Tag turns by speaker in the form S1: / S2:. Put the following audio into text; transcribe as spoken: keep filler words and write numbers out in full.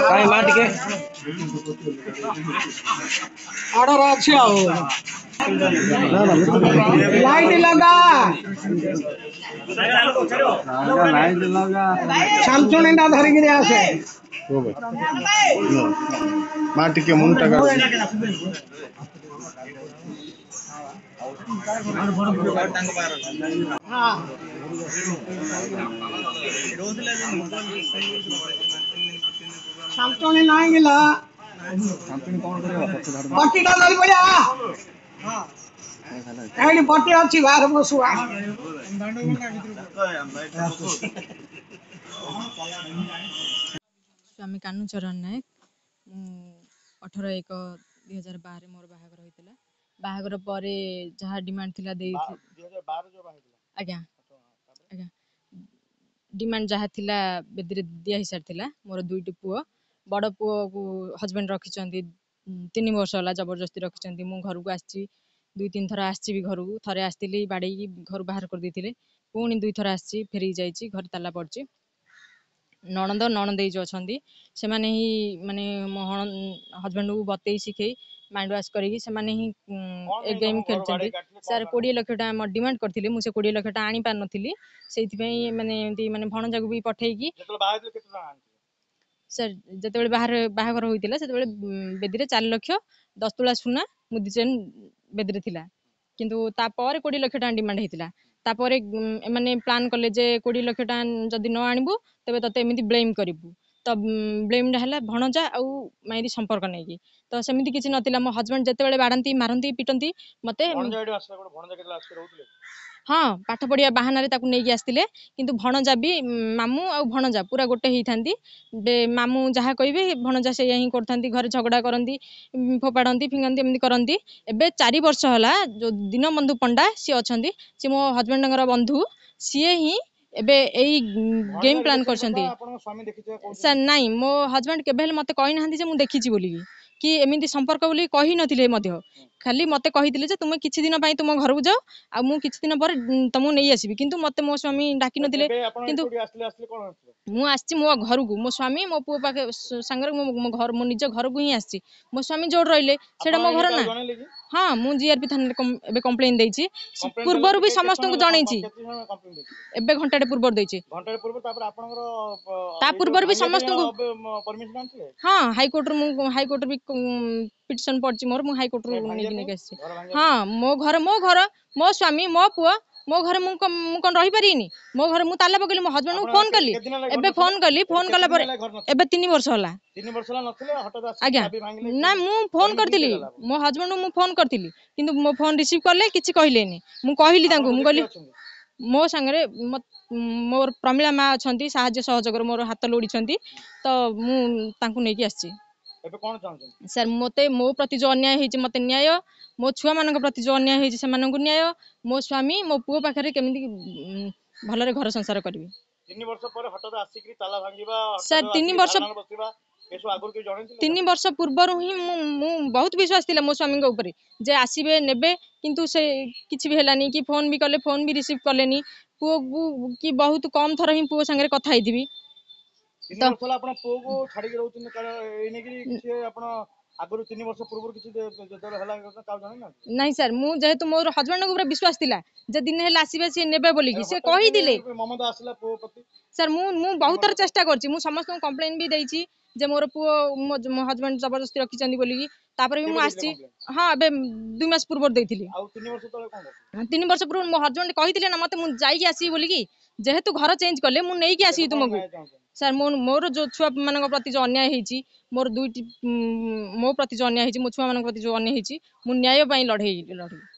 S1: କାଇଁ ମା ଟିକେ
S2: ଅର୍ଡର ଅଛି ଆଉ ଲାଇଟ୍ ଲଗା
S1: ଲାଇଟ୍ ଲଗା
S2: ଛାଞ୍ଚୁଣିଟା ଧରିକିରି ଆସେ
S1: ମା ଟିକେ ମୁଣ୍ଡଟା କାଟ
S2: ହଁ ଛାଞ୍ଚୁଣି ନାହିଁ କିଲୋ ପଟିଟା ଧରି ପଡିଆ ଏଇଠି ପଟି ଅଛି ବାହାରେ ବସୁଆ
S3: ସ୍ୱାମୀ କାହ୍ନୁଚରଣ ନାୟକ ମୁଁ ଅଠର ଏକ ଦୁଇ ହଜାର ବାରରେ ମୋର ବାହାଘର ହୋଇଥିଲା ବାହାଘର ପରେ ଯାହା ଡିମାଣ୍ଡ ଥିଲା ଦେଇ ଆଜ୍ଞା ଆଜ୍ଞା ଡିମାଣ୍ଡ ଯାହା ଥିଲା ବେଦିରେ ଦିଆ ହେଇସାରିଥିଲା ମୋର ଦୁଇଟି ପୁଅ ବଡ଼ ପୁଅକୁ ହଜବେଣ୍ଡ ରଖିଛନ୍ତି ତିନି ବର୍ଷ ହେଲା ଜବରଦସ୍ତି ରଖିଛନ୍ତି ମୁଁ ଘରକୁ ଆସିଛି ଦୁଇ ତିନି ଥର ଆସିଛି ବି ଘରକୁ ଥରେ ଆସିଥିଲି ବାଡ଼େଇକି ଘରୁ ବାହାର କରିଦେଇଥିଲେ ପୁଣି ଦୁଇଥର ଆସିଛି ଫେରିକି ଯାଇଛି ଘରେ ତାଲା ପଡ଼ିଛି ନଣନ୍ଦ ନଣନ୍ଦେଇ ଯେଉଁ ଅଛନ୍ତି ସେମାନେ ହିଁ ମାନେ ମୋ ହଜବେଣ୍ଡକୁ ବତେଇ ଶିଖେଇ ମାଇଣ୍ଡ ୱାଶ କରିକି ସେମାନେ ହିଁ ଏ ଗେମ୍ ଖେଳିଛନ୍ତି ସାର୍ କୋଡ଼ିଏ ଲକ୍ଷ ଟଙ୍କା ମୋର ଡିମାଣ୍ଡ କରିଥିଲି ମୁଁ ସେ କୋଡ଼ିଏ ଲକ୍ଷ ଟଙ୍କା ଆଣିପାରିନଥିଲି ସେଇଥିପାଇଁ ମାନେ ଏମିତି ମାନେ ଭଣଜାକୁ ବି ପଠେଇକି ସାର୍ ଯେତେବେଳେ ବାହାରେ ବାହାଘର ହୋଇଥିଲା ସେତେବେଳେ ବେଦିରେ ଚାରି ଲକ୍ଷ ଦଶ ତୁଳା ସୁନା ମୁଦି ଚେନ୍ ବେଦିରେ ଥିଲା କିନ୍ତୁ ତାପରେ କୋଡ଼ିଏ ଲକ୍ଷ ଟଙ୍କା ଡିମାଣ୍ଡ ହେଇଥିଲା ତାପରେ ଏମାନେ ପ୍ଲାନ୍ କଲେ ଯେ କୋଡ଼ିଏ ଲକ୍ଷ ଟଙ୍କା ଯଦି ନ ଆଣିବୁ ତେବେ ତତେ ଏମିତି ବ୍ଲେମ୍ କରିବୁ ତ ବ୍ଲେମ୍ଟା ହେଲା ଭଣଜା ଆଉ ମାଇଁରି ସମ୍ପର୍କ ନେଇକି ତ ସେମିତି କିଛି ନଥିଲା ମୋ ହଜବେଣ୍ଡ ଯେତେବେଳେ ବାଡ଼ାନ୍ତି ମାରନ୍ତି ପିଟନ୍ତି ମୋତେ ହଁ ପାଠ ପଢ଼ିବା ବାହାନାରେ ତାକୁ ନେଇକି ଆସିଥିଲେ କିନ୍ତୁ ଭଣଜା ବି ମାମୁଁ ଆଉ ଭଣଜା ପୁରା ଗୋଟେ ହେଇଥାନ୍ତି ମାମୁଁ ଯାହା କହିବେ ଭଣଜା ସେଇଆ ହିଁ କରିଥାନ୍ତି ଘରେ ଝଗଡ଼ା କରନ୍ତି ଫୋପାଡ଼ନ୍ତି ଫିଙ୍ଗନ୍ତି ଏମିତି କରନ୍ତି ଏବେ ଚାରି ବର୍ଷ ହେଲା ଯେଉଁ ଦୀନବନ୍ଧୁ ପଣ୍ଡା ସିଏ ଅଛନ୍ତି ସିଏ ମୋ ହଜବେଣ୍ଡଙ୍କର ବନ୍ଧୁ ସିଏ ହିଁ ଏବେ ଏଇ ଗେମ୍ ପ୍ଲାନ୍ କରିଛନ୍ତି ସାର୍ ନାଇଁ ମୋ ହଜବେଣ୍ଡ କେବେ ହେଲେ ମୋତେ କହିନାହାନ୍ତି ଯେ ମୁଁ ଦେଖିଛି ବୋଲିକି କି ଏମିତି ସମ୍ପର୍କ ବୋଲି କହିନଥିଲେ ମଧ୍ୟ ଖାଲି ମୋତେ କହିଥିଲେ ଯେ ତୁମେ କିଛି ଦିନ ପାଇଁ ତୁମ ଘରକୁ ଯାଅ ଆଉ ମୁଁ କିଛି ଦିନ ପରେ ତମକୁ ନେଇ ଆସିବି କିନ୍ତୁ ମୋତେ ମୋ ସ୍ୱାମୀ ଡାକିନଥିଲେ କିନ୍ତୁ ମୁଁ ଆସିଛି ମୋ ଘରକୁ ମୋ ସ୍ୱାମୀ ମୋ ପୁଅ ପାଖେ ସାଙ୍ଗରେ ମୋ ମୋ ଘର ମୋ ନିଜ ଘରକୁ ହିଁ ଆସିଛି ମୋ ସ୍ୱାମୀ ଯୋଉଠି ରହିଲେ ସେଇଟା ମୋ ଘର ନା ହଁ ମୁଁ ଜିଆରପି ଥାନାରେ ଏବେ କମ୍ପ୍ଲେନ୍ ଦେଇଛି ପୂର୍ବରୁ ବି ସମସ୍ତଙ୍କୁ ଜଣେଇଛି ଏବେ ଘଣ୍ଟାଟେ ପୂର୍ବରୁ ଦେଇଛି ତା ପୂର୍ବରୁ ବି ସମସ୍ତଙ୍କୁ ହଁ ହାଇକୋର୍ଟରୁ ମୁଁ ହାଇକୋର୍ଟରୁ ବି ପିଟିସନ ପଡ଼ିଛି ମୋର ମୁଁ ହାଇକୋର୍ଟରୁ ନେଇକି ନେଇକି ଆସିଛି ହଁ ମୋ ଘର ମୋ ଘର ମୋ ସ୍ୱାମୀ ମୋ ପୁଅ ମୋ ଘରେ ମୁଁ ମୁଁ କ'ଣ ରହିପାରିବିନି ମୋ ଘରେ ମୁଁ ତାଲା ପକେଇଲି ମୋ ହଜବେଣ୍ଡକୁ ଫୋନ୍ କଲି ଏବେ ଫୋନ୍ କଲି ଫୋନ୍ କଲା ପରେ ଏବେ ତିନି ବର୍ଷ ହେଲା ଆଜ୍ଞା ନା ମୁଁ ଫୋନ୍ କରିଥିଲି ମୋ ହଜବେଣ୍ଡକୁ ମୁଁ ଫୋନ୍ କରିଥିଲି କିନ୍ତୁ ମୋ ଫୋନ୍ ରିସିଭ୍ କଲେ କିଛି କହିଲେନି ମୁଁ କହିଲି ତାଙ୍କୁ ମୁଁ କହିଲି ମୋ ସାଙ୍ଗରେ ମୋର ପ୍ରମିଳା ମା ଅଛନ୍ତି ସାହାଯ୍ୟ ସହଯୋଗରେ ମୋର ହାତ ଲୋଡ଼ିଛନ୍ତି ତ ମୁଁ ତାଙ୍କୁ ନେଇକି ଆସିଛି
S4: ଏବେ କଣ ଚାହୁଁଛନ୍ତି
S3: ସାର୍ ମୋତେ ମୋ ପ୍ରତି ଯେଉଁ ଅନ୍ୟାୟ ହେଇଛି ମୋତେ ନ୍ୟାୟ ମୋ ଛୁଆମାନଙ୍କ ପ୍ରତି ଯେଉଁ ଅନ୍ୟାୟ ହେଇଛି ସେମାନଙ୍କୁ ନ୍ୟାୟ ମୋ ସ୍ୱାମୀ ମୋ ପୁଅ ପାଖରେ କେମିତି ଭଲରେ ଘର ସଂସାର କରିବି
S4: ତିନି ବର୍ଷ ପରେ ହଠାତ୍ ଆସିକିରି ତାଲା ଭାଙ୍ଗିବା
S3: ସାର୍ ତିନି ବର୍ଷ
S4: ବସିବା ଏସବୁ ଆଗରୁ କେହି ଜଣେଇଥିଲେ
S3: ତିନି ବର୍ଷ ପୂର୍ବରୁ ହିଁ ମୁଁ ମୁଁ ବହୁତ ବିଶ୍ୱାସ ଥିଲା ମୋ ସ୍ୱାମୀଙ୍କ ଉପରେ ଯେ ଆସିବେ ନେବେ କିନ୍ତୁ ସେ କିଛି ବି ହେଲାନି କି ଫୋନ୍ ବି କଲେ ଫୋନ୍ ବି ରିସିଭ୍ କଲେନି ପୁଅକୁ କି ବହୁତ କମ୍ ଥର ହିଁ ପୁଅ ସାଙ୍ଗରେ କଥା ହେଇଥିବି
S4: ତିନି ବର୍ଷ ହେଲା ଆପଣ ପୁଅକୁ ଛାଡିକି ରହୁଛନ୍ତି ଏଇ ନେଇକିରି କିଛି ଆପଣ ଆଗରୁ ତିନି ବର୍ଷ ପୂର୍ବରୁ କିଛି ଯେତେବେଳେ ହେଲା କାହାକୁ ଜଣେଇନାହାନ୍ତି
S3: ନାଇଁ ସାର୍ ମୁଁ ଯେହେତୁ ମୋର ହଜବେଣ୍ଡଙ୍କ ଉପରେ ବିଶ୍ୱାସ ଥିଲା ଯେ ଦିନେ ହେଲେ ଆସିବେ ସିଏ ନେବେ ବୋଲିକି ସେ କହିଥିଲେ
S4: ମମତା ଆସିଲା ପୁଅ ପ୍ରତି
S3: ସାର୍ ମୁଁ ମୁଁ ବହୁତ ଥର ଚେଷ୍ଟା କରିଛି ମୁଁ ସମସ୍ତଙ୍କୁ କମ୍ପ୍ଲେନ୍ ବି ଦେଇଛି ଯେ ମୋର ପୁଅ ମୋ ମୋ ହଜବେଣ୍ଡ ଜବରଦସ୍ତି ରଖିଛନ୍ତି ବୋଲିକି ତାପରେ ବି ମୁଁ ଆସିଛି ହଁ ଏବେ ଦୁଇ ମାସ ପୂର୍ବରୁ ଦେଇଥିଲି
S4: ଆଉ ତିନି ବର୍ଷ ତଳେ କଣ କରିଥିଲେ
S3: ତିନି ବର୍ଷ ପୂର୍ବରୁ ମୋ ହଜବେଣ୍ଡ କହିଥିଲେ ନା ମତେ ମୁଁ ଯାଇକି ଆସିବି ବୋଲିକି ଯେହେତୁ ଘର ଚେଞ୍ଜ କଲେ ମୁଁ ନେଇକି ଆସିବି ତୁମକୁ ସାର୍ ମୋ ମୋର ଯେଉଁ ଛୁଆମାନଙ୍କ ପ୍ରତି ଯେଉଁ ଅନ୍ୟାୟ ହେଇଛି ମୋର ଦୁଇଟି ମୋ ପ୍ରତି ଯେଉଁ ଅନ୍ୟାୟ ହେଇଛି ମୋ ଛୁଆମାନଙ୍କ ପ୍ରତି ଯେଉଁ ଅନ୍ୟାୟ ହେଇଛି ମୁଁ ନ୍ୟାୟ ପାଇଁ ଲଢ଼େଇ ଲଢ଼ିବି